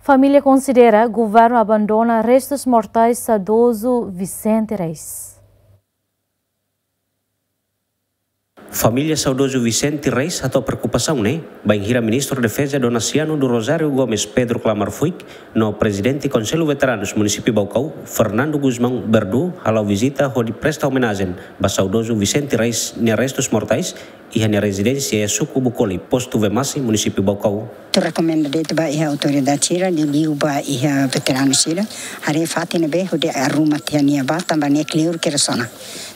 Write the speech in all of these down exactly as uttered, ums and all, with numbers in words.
Família konsidera governu abandona restus mortais saudozu Vicente Reis. Família saudozu Vicente Reis hato'o preokupasaun ne'e bainhira Ministru Defeza Donaciano do Rosário Gomes Pedro Klamar Fuik no Prezidente Konsellu Veteranus Munisípiu Baucau, Fernando Gusmão Berdu, hala'o vizita hodi presta omenajen ba saudozu Vicente Reis nia restus mortais iha nia rezidénsia iha suku Bucoli, Postu Vemasi, Munisípiu Baucau. Atu rekomenda de'it ba iha autoridade sira, liuliu ba iha veteranu sira, haree fatin ne'ebé hodi arruma tiha nia ba, tanba ne'e kleur kedas ona.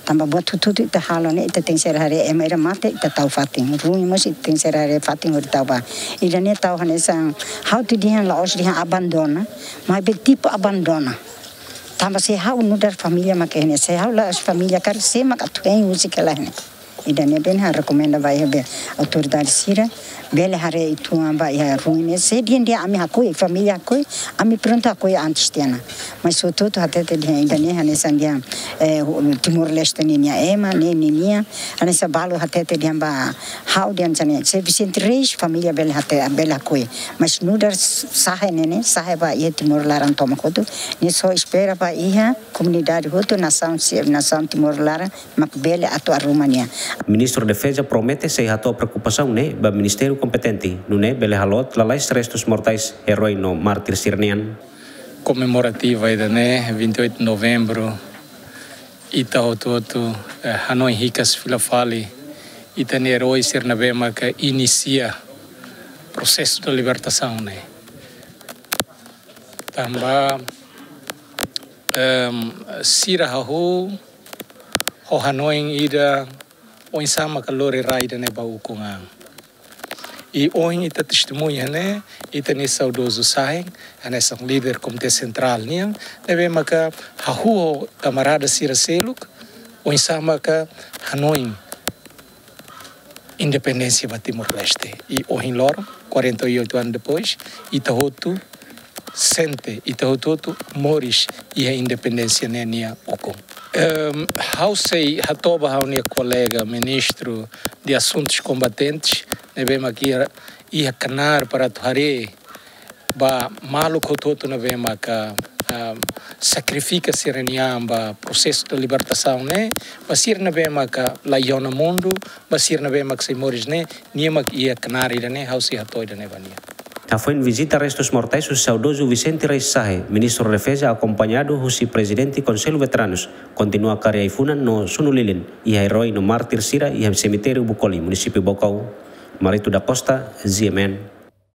Tanba buat hotu-hotu ita halo ne'e, ita tenke ser haree ema ida mate, ita tau fatin. Ruin mós ita tenke ser haree fatin hodi tau ba. Ida-ne'e tau hanesan, ha'u atu dehan la'ós dehan abandona, maibé tipu abandona. Tanba se ha'u nu'udar família mak ne'e, se ha'u la'ós família karik, sé mak atu hein husik hela ne'e. Ida-ne'ebé ha'u rekomenda ba iha be autoridade sira, bele haree uitoan ba iha ruin ne'e, se dehan dehan ami hakoi, família hakoi, ami prontu hakoi antes tiha ona. Mas hotu-hotu hatete dehan ida-ne'e hanesan dehan, eh, Timor-Leste ninia ema, ne'e ninia, hanesan balu hatete dehan ba ha'u dehan hanesan ne'e, se Vicente Reis, família bele hatete, bele hakoi. Mas nu'udar sahe ne'e ne'e, sahe ba iha Timor laran tomak hotu, ne'e só espera ba iha komunidade hotu, nasaun si-, nasaun Timor laran, mak bele atu arruma nia. Ministru Defeza promete sei hato'o preokupasaun ne'e ba ministériu kompetente, nune'e bele haloot lalais restus mortais eroi no mártir sira-nian. Komemorativa ida-ne'e, vinte e oito de novembro, ita hotu-hotu, eh, hanoin hikas fila fali ita-nia eroi sira ne'ebé maka inisia prosesu de libertasaun ne'e. Tanba, em, sira hahú ho hanoin ida oinsá maka lori rai ida-ne'e ba ukun an. I ohin ita testemuña ne'e, ita-nia saudozu sahin, hanesan líder Komité Sentrál nian, ne'ebé maka hahú ho kamarada sira seluk, oinsá maka hanoin independénsia ba Timor-Leste. I ohin loron, quarenta e oito anos depois, ita hotu sente, ita hotu-hotu moris iha independénsia ne'e nia ukun. Ehm, ha'u sei hato'o ba ha'u-nia kolega ministru de Assuntos Combatentes, ne'ebé mak iha, iha knaar para atu haree ba maluk hotu-hotu ne'ebé maka, ah, sakrifika sira-nia an ba prosesu de libertasaun ne'e, ba sira ne'ebé maka la iha ona mundu, ba sira ne'ebé mak sei moris ne'e, nia mak iha knaar ida-ne'e, ha'u sei hato'o ida-ne'e ba nia. Hafoin vizita restus mortais husi saudozu Vicente Reis Sahe, Ministru Defeza akompañadu husi Prezidente Konsellu Veteranus, kontinua kari ai-funan no sunu lilin iha eroi no mártir sira iha semitériu Bucoli, Munisípiu Baucau. Marito da Costa, G M N.